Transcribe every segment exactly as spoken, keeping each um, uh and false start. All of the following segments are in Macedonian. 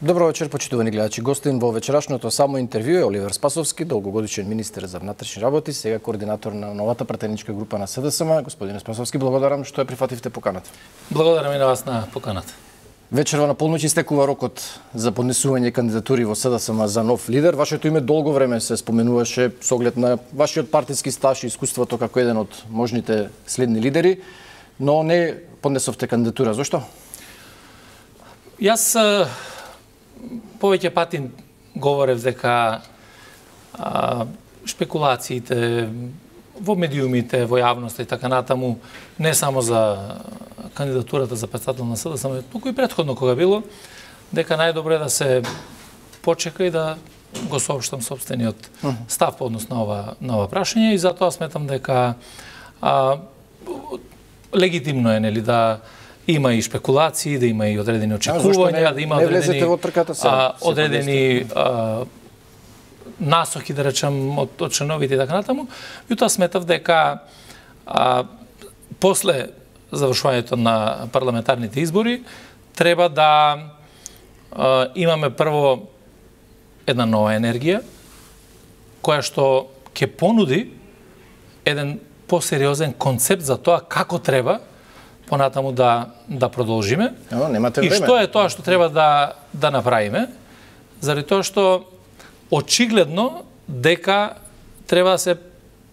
Добро вечер, почитувани гледачи. Гостин во вечерашното само интервју е Оливер Спасовски, долгогодишен министер за внатрешни работи, сега координатор на новата пратеничка група на СДСМ. Господине Спасовски, благодарам што ја прифативте поканата. Благодарам и на вас на поканата. Вечерва на полноќ истекува рокот за поднесување кандидатури во СДСМ за нов лидер. Вашето име долго време се споменуваше со оглед на вашиот партиски стаж и искуството како еден од можните следни лидери, но не поднесовте кандидатура. Зошто? Јас повеќе пати говорев дека а, шпекулациите во медиумите, во јавноста и така натаму, не само за кандидатурата за председател на СДСМ, туку и претходно кога било, дека најдобро е да се почека и да го соопштам сопствениот став по однос на ова, на ова прашање, и затоа сметам дека а, легитимно е, нели, да има и шпекулации, да има и одредени очекувања, да има одредени, а, одредени а, насоки, да речам, од, од членовите и така натаму. И тоа сметав дека а, после завршувањето на парламентарните избори треба да а, имаме прво една нова енергија, која што ќе понуди еден посериозен концепт за тоа како треба понатаму да да продолжиме. Но, немате време. И што е тоа што треба да да направиме? Заради тоа што очигледно дека треба да се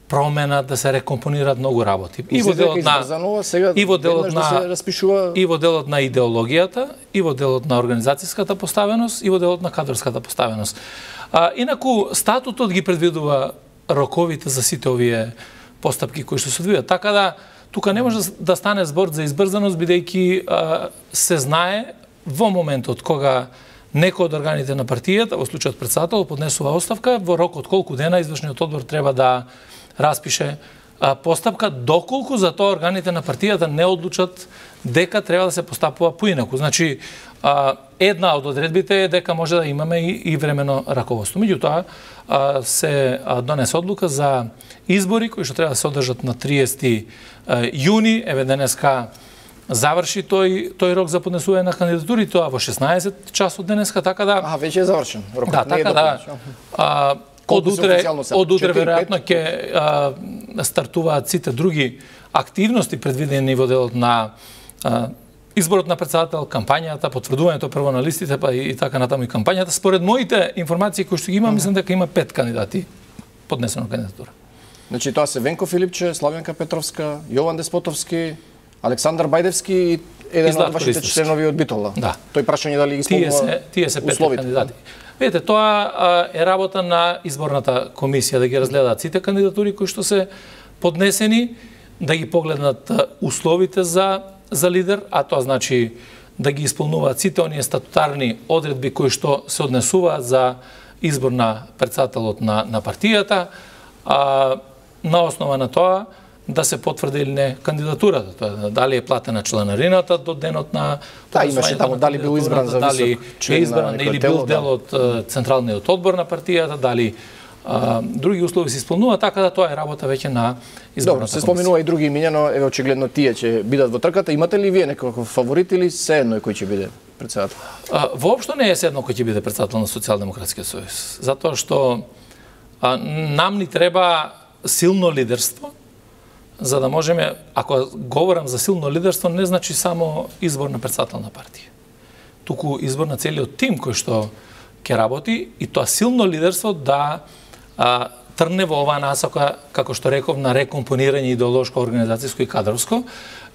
променат, да се рекомпонираат многу работи. И во делот на сега и во делот на да се распишува и во делот на идеологијата, и во делот на организацијската поставеност, и во делот на кадрската поставеност. А, инаку статутот ги предвидува роковите за сите овие постапки кои што се одвијат. Така да тука не може да стане збор за избрзаност, бидејќи се знае во моментот кога некој од органите на партијата, во случајот председател, поднесува оставка, во рок од колку дена извршниот одбор треба да распише а, постапка, доколку за тоа органите на партијата не одлучат дека треба да се постапува поинаку. Значи, а, една од одредбите е дека може да имаме и, и времено раководство. Меѓутоа, а, се а, донесе одлука за избори кои што треба да се одржат на триесети јуни, еве денеска заврши тој тој рок за поднесување на кандидатури, тоа во шеснаесет часот денеска, така да Аха, веќе е завршен. Рокот да, не е така да. А, од утре, од утре веројатно ќе стартуваат сите други активности предвидени во делот на а, изборот на председател, кампањата, потврдувањето прво на листите, па и, и така натаму и кампањата. Според моите информации кои што ги имам, мислам дека има пет кандидати поднесено кандидатура. Значи тоа се Венко Филипче, Славјанка Петровска, Јован Деспотовски, Александар Бајдевски и еден од вашите членови од Битола. Да. Тој прашање дали ги исполнува условите. Тие се пет кандидати. Видете, тоа е работа на изборната комисија да ги разгледаат сите кандидатури кои што се поднесени, да ги погледнат условите за за лидер, а тоа значи да ги исполнуваат сите оние статутарни одредби кои што се однесуваат за избор на председателот на на партијата, а на основа на тоа да се потврди или не кандидатурата. Тоа дали е платена чланарината до денот на да, имаше таму дали бил избран за дали член е избран или бил дел од да. Централниот одбор на партијата, дали а, други услови се исполнува, така да тоа е работа веќе на изборната комисија. Добро, се споменува и други имиња, но еве очигледно тие ќе бидат во трката. Имате ли вие некој фаворит или се едно кој ќе биде председател? А, воопшто не е се едно кој ќе биде председател на Социјалдемократскиот сојуз, затоа што а, нам ни треба силно лидерство, за да можеме, ако говорам за силно лидерство, не значи само избор на председател на партија. Туку избор на целиот тим кој што ќе работи, и тоа силно лидерство да а, трне во оваа насока, како што реков, на рекомпонирање идеолошко, организацијско и кадровско.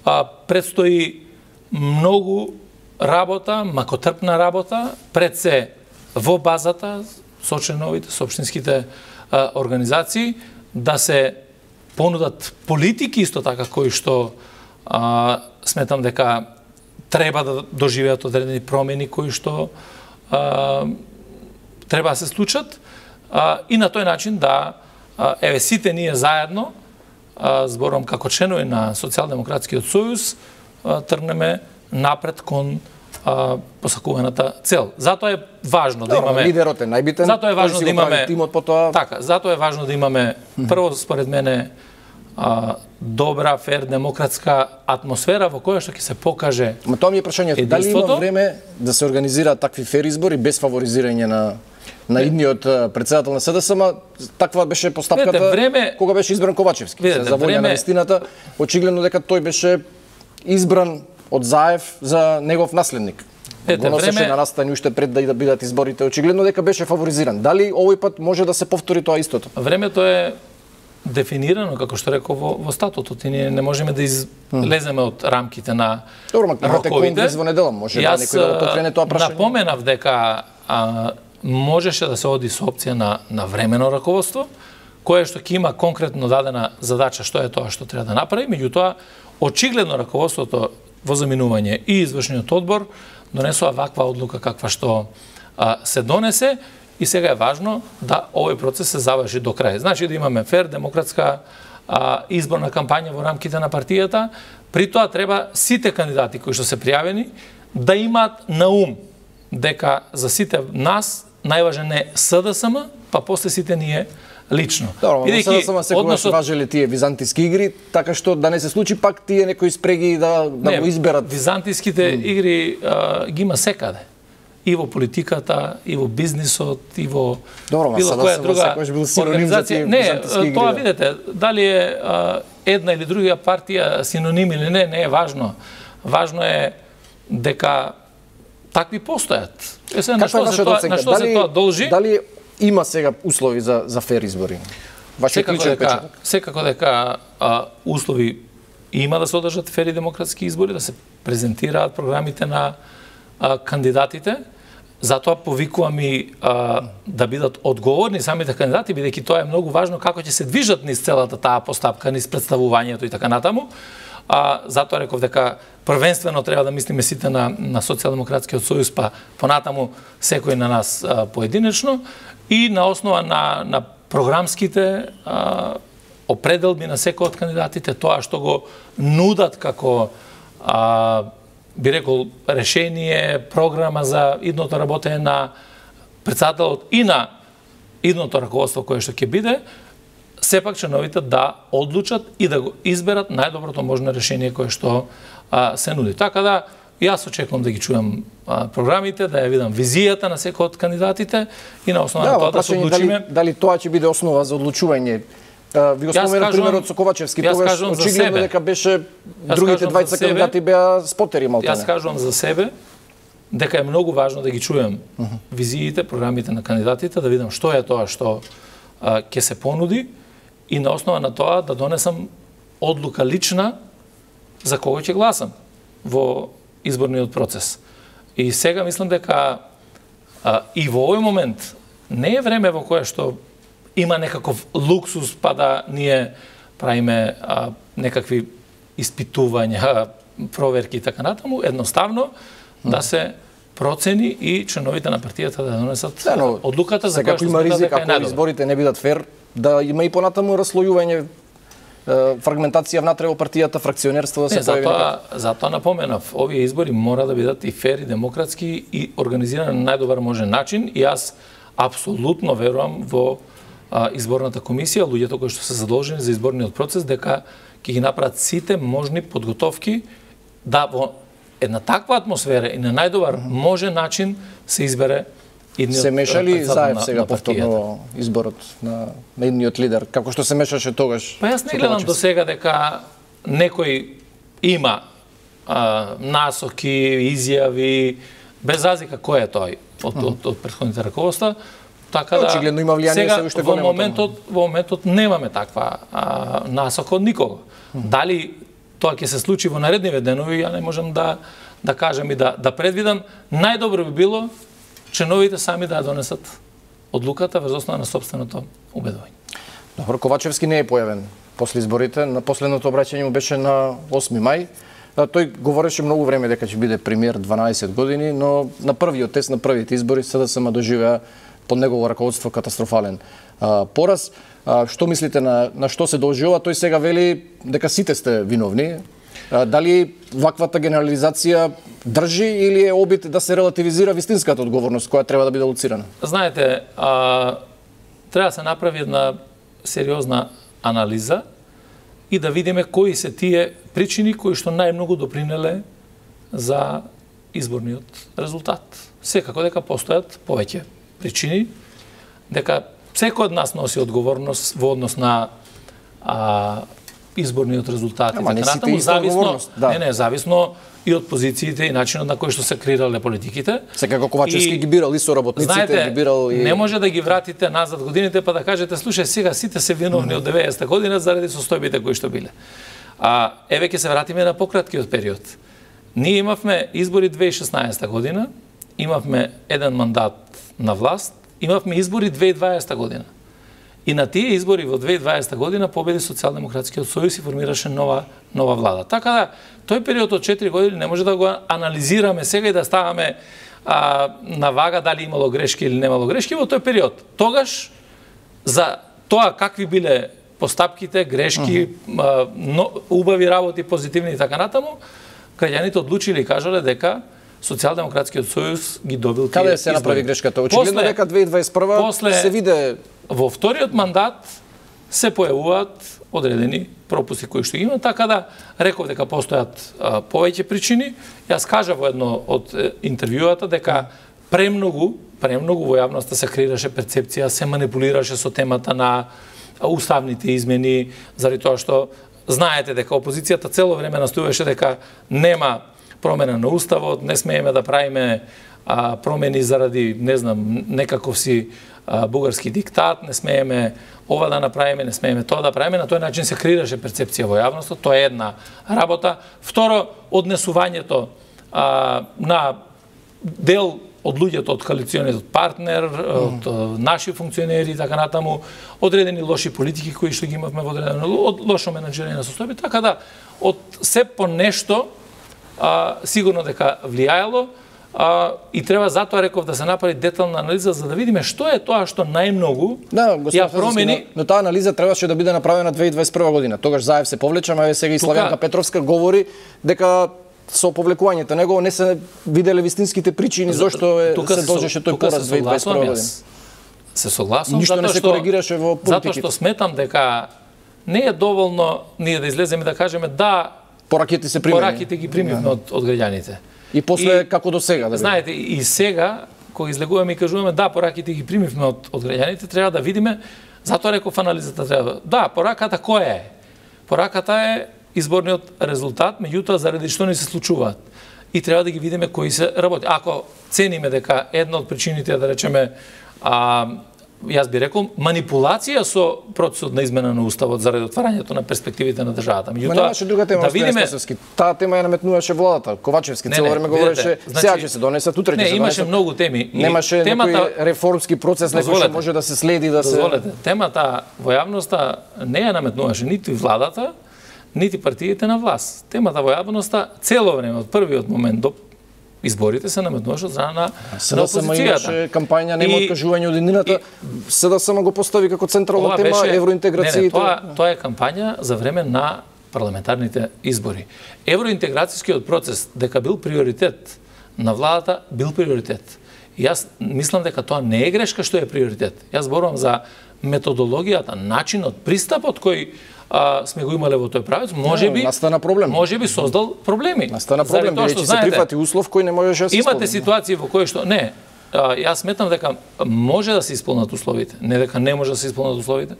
А, предстои многу работа, макотрпна работа, пред се во базата со членовите, со општинските а, организации, да се понудат политики исто така кои што а, сметам дека треба да доживеат одредени промени кои што а, треба да се случат, а, и на тој начин да а, еве сите ние заедно, а, зборам како членови на Социјалдемократскиот сојуз, а, тргнеме напред кон а, посакуваната цел. Затоа е важно да имаме лидерот е најбитен. Затоа е важно да имаме тимот потоа. Така, затоа е важно да имаме прво според мене а, добра, фер, демократска атмосфера во која што ќе се покаже. Ма тоа ми е прашањето, дали има време да се организираат такви фер избори без фаворизирање на на идниот председател на СДСМ? Таква беше постапката Видете, време... кога беше избран Ковачевски. Видете, за волја време... на вистината, очигледно дека тој беше избран од Заев за негов наследник. Ете, го носеше време... на настани уште пред да бидат изборите, очигледно дека беше фаворизиран. Дали овој пат може да се повтори тоа истото? Времето е дефинирано, како што реков, во, во статутот, и ние не можеме да излеземе од рамките на Добро, имате конгрес во недела, може да некој да покрене тоа прашање. Јас напоменав дека а, можеше да се оди со опција на, на времено раководство, кое што ќе има конкретно дадена задача што е тоа што треба да направи, меѓутоа, очигледно раководството во заминување и извршниот одбор донесува ваква одлука каква што а, се донесе, и сега е важно да овој процес се заврши до крај. Значи да имаме фер, демократска а, изборна кампања во рамките на партијата. При тоа треба сите кандидати кои што се пријавени да имаат на ум дека за сите нас најважен е СДСМ, па после сите ние лично. Добро, но СДСМ секогаш односот... важеле тие византиски игри, така што да не се случи пак тие некои спреги да, да не, го изберат. Византиските mm. игри а, ги има секаде. И во политиката, и во бизнисот, и во Добро, било која друга организација. Не, тоа видите, дали е а, една или друга партија синоним или не, не е важно. Важно е дека такви постојат. Е, се, на што се тоа, на што се тоа должи? Дали има сега услови за за фер избори? Секако дека, секако дека а, услови има да се одржат фер и демократски избори, да се презентираат програмите на а, кандидатите. Затоа повикувам и а, да бидат одговорни самите кандидати, бидејќи тоа е многу важно како ќе се движат низ целата таа постапка, низ представувањето и така натаму. А, затоа реков дека првенствено треба да мислиме сите на, на Социјалдемократскиот сојуз, па понатаму секој на нас а, поединечно, и на основа на, на програмските а, определби на секој од кандидатите, тоа што го нудат како а, би рекол решение, програма за идното работење на председателот и на идното раководство кое што ќе биде, сепак членовите да одлучат и да го изберат најдоброто можно решение кое што а, се нуди. Така да, јас очекувам да ги чујам а, програмите, да ја видам визијата на секој од кандидатите и на основа да, на тоа да се одлучиме. Дали, дали тоа ќе биде основа за одлучување? Ви го споменав примерот со Ковачевски, тогаш очигледно дека беше другите двајца кандидати беа спотери малтане. Јас кажувам за себе дека е многу важно да ги чујам uh -huh. визиите, програмите на кандидатите, да видам што е тоа што а, ќе се понуди и на основа на тоа да донесам одлука лична за кого ќе гласам во изборниот процес. И сега мислам дека а, и во овој момент не е време во кое што има некаков луксус па да ние правиме а, некакви испитувања, проверки и така натаму, едноставно mm. да се процени и членовите на партијата да донесат да, но, одлуката за која што има ризик ако изборите не бидат фер, да има и понатаму раслојување, фрагментација внатре во партијата, фракционерство да се појави. Затоа, затоа напоменав, овие избори мора да бидат и фер и демократски и организирани на најдобар можен начин, и јас апсолутно верувам во а, изборната комисија, луѓето кои што се задолжени за изборниот процес, дека ќе ги направат сите можни подготовки да во една таква атмосфера и на најдобар можен начин се избере идниот. Се меша ли Заев сега повторно изборот на, на идниот лидер, како што се мешаше тогаш? Па јас не гледам до сега дека некој има а, насоки, изјави, без разлика кој е тој од, од, од, од претходните раководства. Така да, очигледно има влијание, сега, се уште во го моментот, во моментот немаме таква а, насока од никого. Дали тоа ќе се случи во наредниве денови, ја не можам да да кажам и да да предвидам. Најдобро би било членовите сами да ја донесат одлуката врз основа на сопственото убедување. Добро, Ковачевски не е појавен после изборите. На последното обраќање му беше на осми мај. Тој говореше многу време дека ќе биде премиер дванаесет години, но на првиот тест, на првите избори СДСМ доживеа под негово раководство катастрофален а, пораз. А, што мислите на на што се должи ова? Тој сега вели дека сите сте виновни. А, дали ваквата генерализација држи или е обид да се релативизира вистинската одговорност која треба да биде луцирана? Знаете, а, треба да се направи една сериозна анализа и да видиме кои се тие причини кои што најмногу допринеле за изборниот резултат. Секако дека постојат повеќе причини, дека секој од нас носи одговорност во однос на а, изборниот резултат. Ама не сите иста одговорност. Да. Не, не, зависно и од позициите и начинот на кој што се креирале политиките. Секако Ковачевски ги бирал и со работниците, знаете, ги бирал и... не може да ги вратите назад годините па да кажете, слушај, сега сите се виновни од деветдесета година заради состојбите кои што биле. А еве ќе се вратиме на пократкиот период. Ние имавме избори две илјади и шеснаесета година, имавме еден мандат на власт, имавме избори две илјади и дваесета година. И на тие избори во две илјади и дваесета година победи Социјалдемократскиот сојуз и формираше нова нова влада. Така да тој период од четири години не може да го анализираме сега и да ставаме а, на вага дали имало грешки или немало грешки во тој период. Тогаш за тоа какви биле постапките, грешки, uh -huh. а, но, убави работи, позитивни и така натаму, граѓаните одлучиле и кажале дека Социјалдемократскиот сојуз ги добил тие. Каде се направи грешката? Очигледно дека две илјади и дваесет и прва после, се виде во вториот мандат се појавуваат одредени пропусти кои што има, така да реков дека постојат а, повеќе причини. Јас кажав во едно од е, интервјуата дека премногу, премногу во јавноста се креираше перцепција, се манипулираше со темата на уставните измени, заради тоа што знаете дека опозицијата цело време настојуваше дека нема промена на уставот, не смееме да правиме а, промени заради, не знам, некаков си а, бугарски диктат, не смееме ова да направиме, не смееме тоа да правиме, на тој начин се креираше перцепција во јавноста, тоа е една работа. Второ, однесувањето а, на дел од луѓето од коалициониот партнер, од mm. наши функционери и така натаму, одредени лоши политики кои што ги имавме во одредено, од лошо менаџирање на состојби, така да од се по нешто а, сигурно дека влијаело а, и треба затоа реков да се направи детална анализа за да видиме што е тоа што најмногу да, ја промени. Но, но таа анализа требаше да биде направена две илјади и дваесет и прва година. Тогаш Заев се повлече, а сега и Славјанка Петровска говори дека со повлекувањето него не се виделе вистинските причини зошто е, се должеше тој пораз две илјади и дваесет и прва година. Се согласувам, ништо не се коригираше во политиките. Затоа што сметам дека не е доволно ние да излеземе да кажеме да пораките се примени. Пораките ги примивме да. од, од граѓаните. И после и, како до сега да знаете, и сега кога излегуваме и кажуваме да пораките ги примивме од, од граѓаните, треба да видиме, затоа реков анализата треба. Да, пораката која е? Пораката е изборниот резултат, меѓутоа заради што не се случуваат. И треба да ги видиме кои се работи. Ако цениме дека една од причините да речеме а, јас би рекол манипулација со процесот на измена на уставот заради отварањето на перспективите на државата. Меѓутоа немаше друга тема, да видиме таа тема ја наметнуваше владата. Ковачевски цело време говореше значи, сега ќе се донесат, утре ќе се донесат. Не, имаше многу теми. Немаше темата, некој реформски процес некој што може да се следи да дозволете, се темата во јавноста не ја наметнуваше ниту владата, нити партиите на власт. Темата во јавноста цело време од првиот момент до изборите се наметнуваше од страна на, на опозицијата. Имаше кампања нема откажување од единината, СДСМ го постави како централна тема беше, евроинтеграцијата. Не, не, тоа, тоа е кампања за време на парламентарните избори. Евроинтеграцијскиот процес дека бил приоритет на владата, бил приоритет. И јас мислам дека тоа не е грешка што е приоритет. Јас зборувам за методологијата, начинот, пристапот кој а, сме го имале во тој правец, може би настана проблем. Може би создал проблеми. Настана проблем, бидејќи се прифати услов кој не можеше да се имате ситуации во кои што не, а, јас сметам дека може да се исполнат условите, не дека не може да се исполнат условите.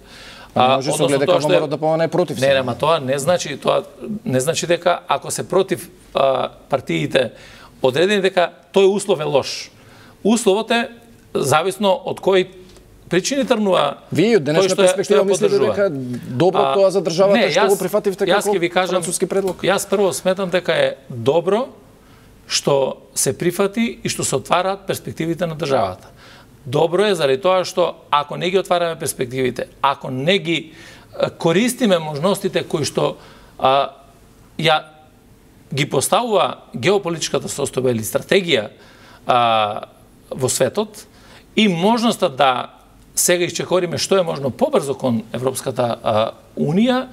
А може се гледа дека мора да помане против. Не, ама тоа не значи, тоа не значи дека ако се против а, партиите одредени дека тој услов е лош. Условот е зависно од кој причини трнува. Вие од денешна перспектива мислите дека добро а, тоа за државата не, што јас, го прифативте како француски предлог? Јас прво сметам дека е добро што се прифати и што се отвараат перспективите на државата. Добро е заради тоа што ако не ги отвараме перспективите, ако не ги користиме можностите кои што а, ја ги поставува геополитичката состојба или стратегија а, во светот и можноста да сега исчекориме што е можно побрзо кон Европската а, Унија,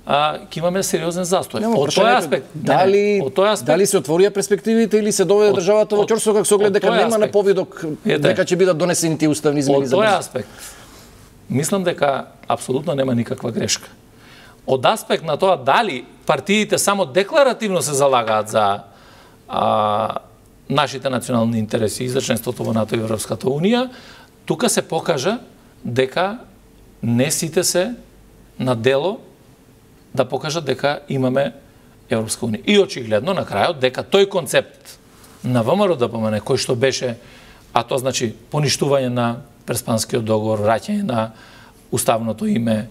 ќе имаме сериозен застој. Нема, од тој аспект, дали, не, не, од тој аспект, дали се отворија перспективите или се доведе државата во ќорсо како се оглед дека нема на повидок дека ќе бидат донесени тие уставни измени за од тој аспект, мислам дека апсолутно нема никаква грешка. од аспект на тоа дали партиите само декларативно се залагаат за а, нашите национални интереси и за членството во НАТО и Европската Унија, тука се покажа дека не сите се на дело да покажат дека имаме Европска Унија. И очигледно на крајот дека тој концепт на ВМРО-ДПМН кој што беше, а тоа значи поништување на Преспанскиот договор, враќање на уставното име,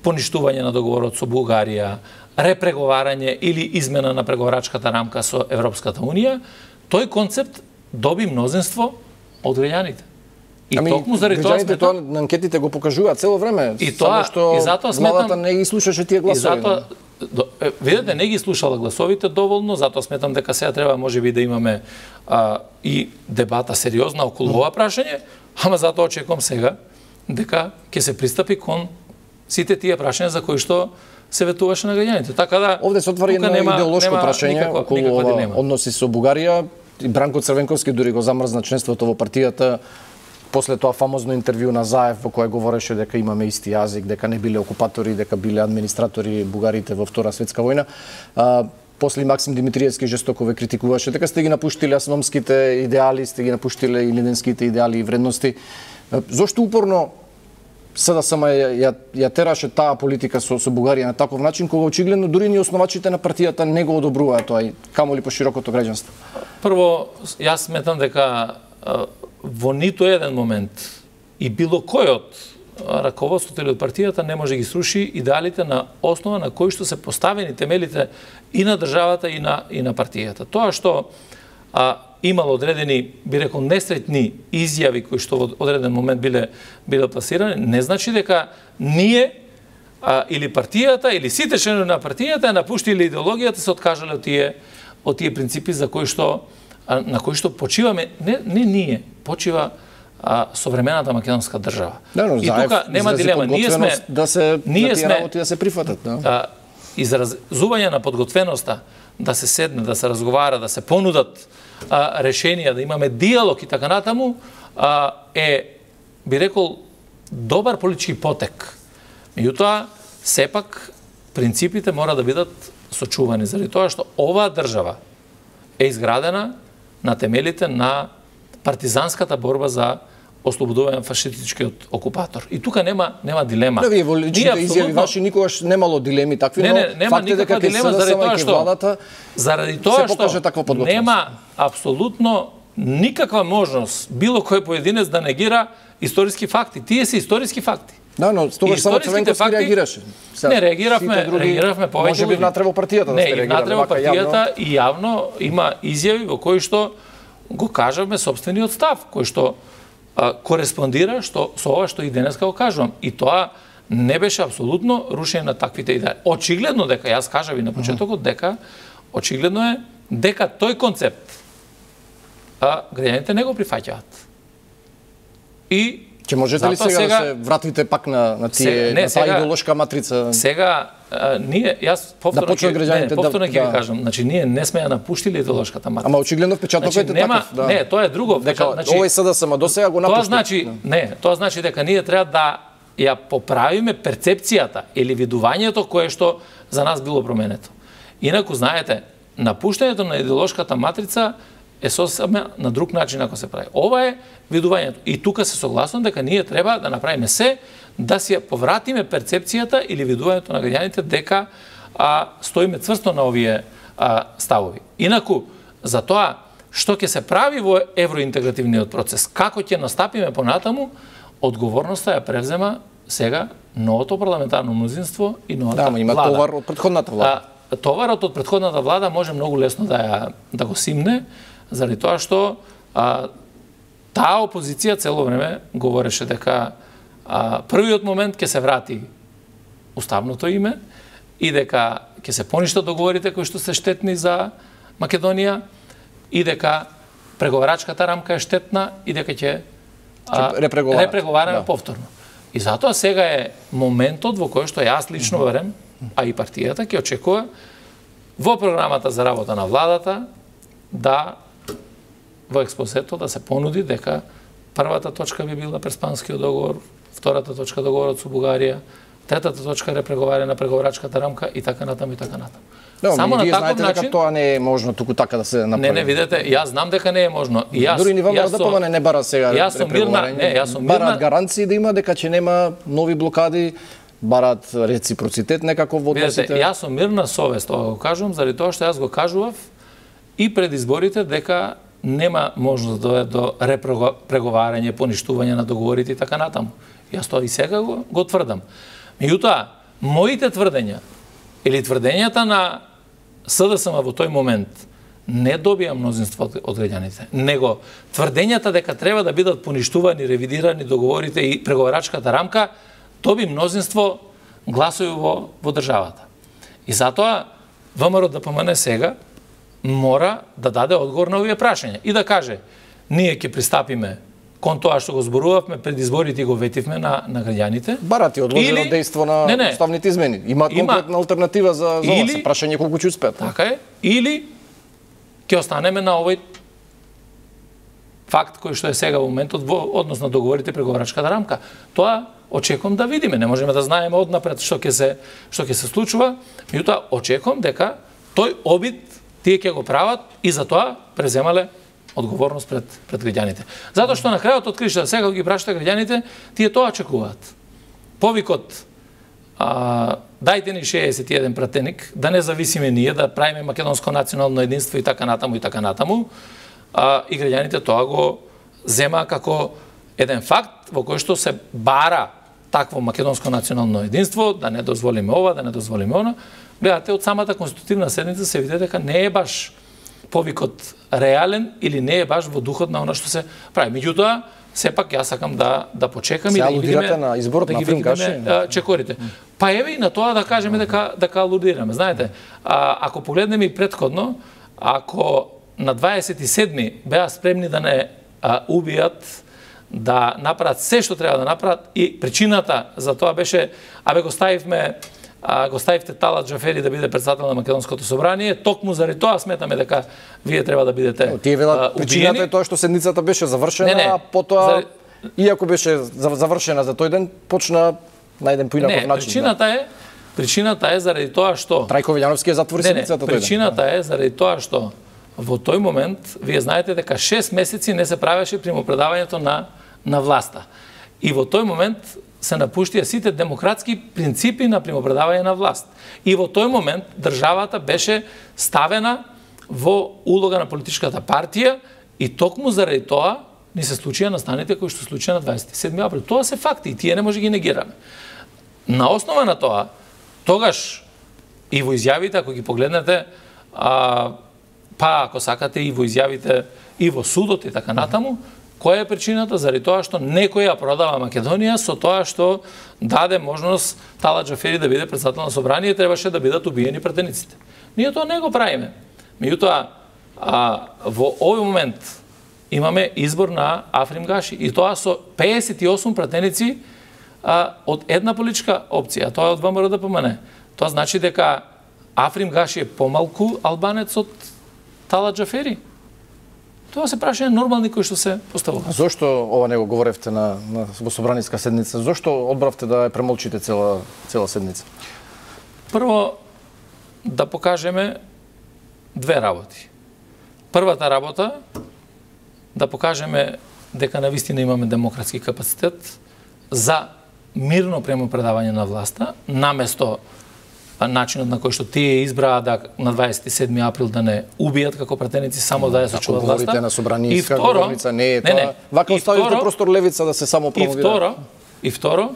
поништување на договорот со Бугарија, репреговарање или измена на преговарачката рамка со Европската Унија, тој концепт доби мнозинство од граѓаните. И ами, токму заради тоа сметам, тоа на анкетите го покажуваат цело време, и тоа, само што и затоа сметам, владата не ги слушаше тие гласови. И затоа, видете, не ги слушала гласовите доволно, затоа сметам дека сега треба можеби да имаме а, и дебата сериозна околу ова прашање, ама затоа очекувам сега дека ќе се пристапи кон сите тие прашања за кои што се ветуваше на граѓаните. Така да овде се отвори едно идеолошко прашање околу ова односи со Бугарија. И Бранко Црвенковски дури го замрзна членството во партијата после тоа фамозно интервју на Заев во кое говореше дека имаме исти јазик, дека не биле окупатори, дека биле администратори бугарите во Втора светска војна. А, после Максим Димитриевски жестоко ве критикуваше дека сте ги напуштиле асономските идеали, сте ги напуштиле и лиденските идеали и вредности. Зошто упорно СДСМ ја, ја, ја тераше таа политика со, со Бугарија на таков начин, кога очигледно дури ни основачите на партијата не го одобруваат тоа, камоли по широкото граѓанство? Прво, јас сметам дека во ниту еден момент и било кој од раководството или од партијата не може да ги сруши идеалите на основа на кои што се поставени темелите и на државата и на и на партијата. Тоа што а, имало одредени, би рекол, несретни изјави кои што во одреден момент биле биле пласирани, не значи дека ние а, или партијата или сите членови на партијата напуштиле идеологијата, се откажале од тие од тие принципи за кои што а, на кои што почиваме, не не ние, почива а, современата македонска држава. Да, но, и тука нема дилема, ние сме да се ние да сме работи да се прифатат, да. А, изразување на подготвеноста да се седне, да се разговара, да се понудат а, решенија, да имаме диалог и така натаму, а, е, би рекол, добар политички потек. Меѓутоа, сепак, принципите мора да бидат сочувани, заради тоа што оваа држава е изградена на темелите на партизанската борба за ослободување на фашистичкиот окупатор. И тука нема нема дилема. Да, вие во личните изјави ваши никогаш немало дилеми такви, не, не, нема факт е дека дилема заради тоа што владата заради тоа што нема апсолутно никаква можност било кој поединец да негира историски факти. Тие се историски факти. Да, но тогаш само Црвенковски факти... реагираше. Сега, не, реагиравме, други... реагиравме повеќе. Може би внатре во партијата да сте реагирале. Не, внатре во партијата и јавно има изјави во кои што го кажавме собствениот став, кој што а, кореспондира што со ова што и денеска го кажувам. И тоа не беше апсолутно рушење на таквите идеи. Очигледно дека, јас кажав и на почетокот, дека очигледно е дека тој концепт а граѓаните не го прифаќаат. И ќе можете ли сега, сега да се вратите пак на на тие сега, не, на таа идеолошка матрица? Сега а, ние јас повторно ќе да, повторно ќе да, да. кажам, значи ние не сме ја напуштиле идеолошката матрица. Ама очигледно впечатокот значи, е нема, таков, да. Не, тоа е друго. Дека значи, овој СДСМ до сега го напушти. Тоа значи, да. не, тоа значи дека ние треба да ја поправиме перцепцијата или видувањето кое што за нас било променето. Инаку знаете, напуштањето на идеолошката матрица е сосема на друг начин ако се прави. Ова е видувањето. И тука се согласувам дека ние треба да направиме се да си ја повратиме перцепцијата или видувањето на граѓаните дека а, стоиме цврсто на овие а, ставови. Инаку, за тоа што ќе се прави во евроинтегративниот процес, како ќе настапиме понатаму, одговорноста ја превзема сега новото парламентарно мнозинство и новата да, има влада. товар од претходната влада. А, товарот од претходната влада може многу лесно да ја да го симне, заради тоа што а, таа опозиција цело време говореше дека а, првиот момент ќе се врати уставното име и дека ќе се поништат договорите кои што се штетни за Македонија и дека преговарачката рамка е штетна и дека ќе репреговараме да. повторно. И затоа сега е моментот во кој што јас лично верам, а и партијата ќе очекува во програмата за работа на владата да во експозето да се понуди дека првата точка би била Преспанскиот договор, втората точка договорот со Бугарија, Третата точка е преговарање на преговарачката рамка и така натаму и така натаму. Да, само на таков начин дека тоа не е можно туку така да се направи. Не, не, видете, јас знам дека не е можно. И јас дури ни ВМРО да помане не бара сега преговарање. Не, јас сум мирна. Бараат гаранции да има дека ќе нема нови блокади, бараат реципроцитет некако во односите. Видете, јас сум мирна совест, ова го кажувам заради тоа што јас го кажував и пред изборите дека нема можност да дојде до репреговарање, поништување на договорите и така натаму. Јас тоа и сега го, го тврдам. Меѓутоа, моите тврдења или тврдењата на СДСМ во тој момент не добија мнозинство од граѓаните, него тврдењата дека треба да бидат поништувани, ревидирани договорите и преговарачката рамка, доби мнозинство гласови во, во државата. И затоа ВМРО да ДПМН сега мора да даде одговор на овие прашања и да каже, ние ќе пристапиме кон тоа што го зборувавме пред изборите и го ветивме на, на граѓаните. Барати одложено или... дејство на не, не. уставните измени. Има конкретна алтернатива за, за или... прашање колку ќе успеат. Така е. Или ќе останеме на овој факт кој што е сега во моментот во однос на договорите преговарачката рамка. Тоа очекувам да видиме. Не можеме да знаеме однапред што ќе се што ќе се случува, меѓутоа очекувам дека тој обид тие ќе го прават и за тоа преземале одговорност пред пред граѓаните. Затоа што на крајот од кришта сега ги прашате граѓаните, тие тоа очекуваат. Повикот а, дајте ни шеесет и еден пратеник, да не зависиме ние, да правиме македонско национално единство и така натаму и така натаму, а, и граѓаните тоа го зема како еден факт во кој што се бара такво македонско национално единство, да не дозволиме ова, да не дозволиме она. Гледате, од самата конститутивна седница се види дека не е баш повикот реален или не е баш во духот на она што се прави. Меѓутоа, сепак јас сакам да да почекам се и да ги видиме на изборот да на Африм Гаши чекорите. Па еве и на тоа да кажеме дека дека алудираме. Знаете, а, ако погледнеме и претходно, ако на дваесет и седми беа спремни да не а, убијат, да направат се што треба да направат и причината за тоа беше, абе го ставивме а, го ставивте Талат Џафери да биде председател на Македонското собрание, токму заради тоа сметаме дека вие треба да бидете убиени. Тие велат причината е тоа што седницата беше завршена, не, не, а потоа заради... иако беше завршена за тој ден, почна на еден поинаков начин. Не, причината е причината е заради тоа што Трајко Вилјановски ја затвори седницата тој ден. Причината е заради тоа што во тој момент вие знаете дека шест месеци не се правеше примопредавањето на на власта. И во тој момент се напуштија сите демократски принципи на примопредавање на власт. И во тој момент државата беше ставена во улога на политичката партија и токму заради тоа ни се случија настаните кои што случија на дваесет и седми април. Тоа се факти и тие не може ги негираме. На основа на тоа, тогаш и во изјавите, ако ги погледнете, а, па ако сакате и во изјавите и во судот и така натаму, која е причината? Заради тоа што некој ја продава Македонија со тоа што даде можност Талат Џафери да биде председател на собрание, требаше да бидат убиени пратениците. Ние тоа не го правиме. Меѓутоа, во овој момент имаме избор на Африм Гаши и тоа со пеесет и осум пратеници а, од една политичка опција, тоа е од ВМРО ДПМН. Тоа значи дека Африм Гаши е помалку албанец од Талат Џафери. Тоа се прашање нормални кои што се поставува. Зошто ова не го говоревте на, на во собраниска седница? Зошто одбравте да ја премолчите цела цела седница? Прво да покажеме две работи. Првата работа да покажеме дека навистина имаме демократски капацитет за мирно премопредавање на власта, наместо начинот на кој што тие избраа да на дваесет и седми април да не убијат како пратеници, само да ја сочуват власта. Говорите на собраниска говорница, не е тоа. Не, не. Вака оставите простор левица да се само промовира. И второ, и второ,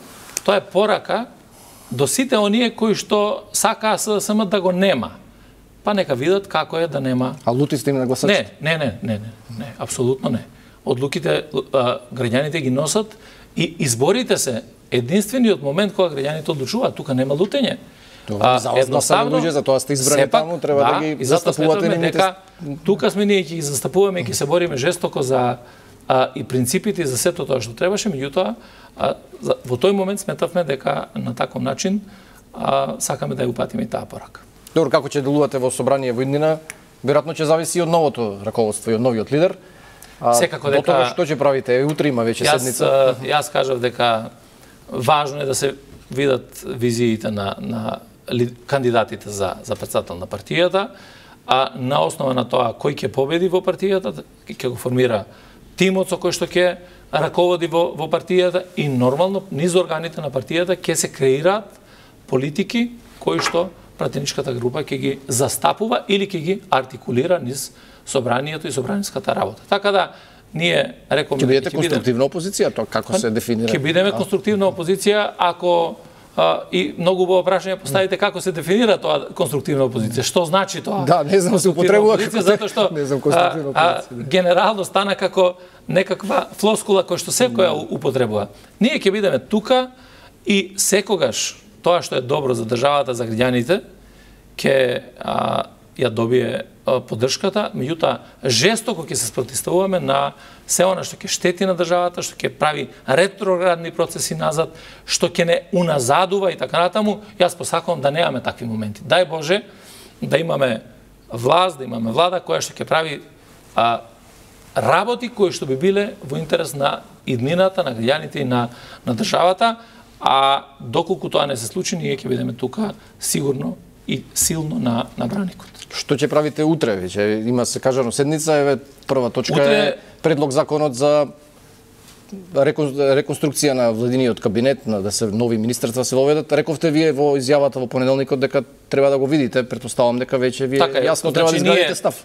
тоа е порака до сите оние кои што сакаа СДСМ да го нема. Па нека видат како е да нема. А лути сте им на гласачите? Не, не, не, не, не, не, апсолутно не. Одлуките а, граѓаните ги носат и изборите се единствениот момент кога граѓаните одлучуваат. Тука нема лутење. А, едноставно, луѓе, за тоа сте избрани сепак, таму, треба да, да ги застапувате нивните. Тука сме ние ќе ги застапуваме и ќе се бориме жестоко за а, и принципите и за сето тоа што требаше, меѓутоа во тој момент сметавме дека на таков начин а, сакаме да ја упатиме и таа порака. Добро, како ќе делувате во собрание во иднина, веројатно ќе зависи од новото раководство и од новиот лидер. А, Секако дека тоа што ќе правите? Утре има веќе јас, седница. Јас кажав дека важно е да се видат визиите на, на ли, кандидатите за, за председател на партијата, а на основа на тоа кој ќе победи во партијата, ќе го формира тимот со кој што ќе раководи во, во партијата и нормално низ органите на партијата ќе се креираат политики кои што пратеничката група ќе ги застапува или ќе ги артикулира низ собранието и собраниската работа. Така да ние рековме ќе бидете конструктивна опозиција, тоа како се дефинира? Ќе бидеме конструктивна опозиција ако а, и многу убаво прашање поставите како се дефинира тоа конструктивна опозиција. Што значи тоа? Да, не знам се употребува како затоа што не знам конструктивна опозиција. А, а, генерално стана како некаква флоскула која што секоја употребува. Ние ќе бидеме тука и секогаш тоа што е добро за државата, за граѓаните, ќе а, ја добие а, поддршката, меѓутоа жестоко ќе се спротивставуваме на се она што ќе штети на државата, што ќе прави ретроградни процеси назад, што ќе не уназадува и така натаму. Јас посакувам да немаме такви моменти. Дај Боже да имаме власт, да имаме влада која што ќе прави а, работи кои што би биле во интерес на иднината, на граѓаните и на, на државата, а доколку тоа не се случи, ние ќе бидеме тука сигурно и силно на, на браникот. Што ќе правите утре? Веќе има се кажано седница, еве прва точка утре... е предлог законот за реконструкција на владиниот кабинет, на да се нови министерства се воведат. Рековте вие во изјавата во понеделникот дека треба да го видите, претпоставам дека веќе вие така, јасно значи, треба да изградите ние, став.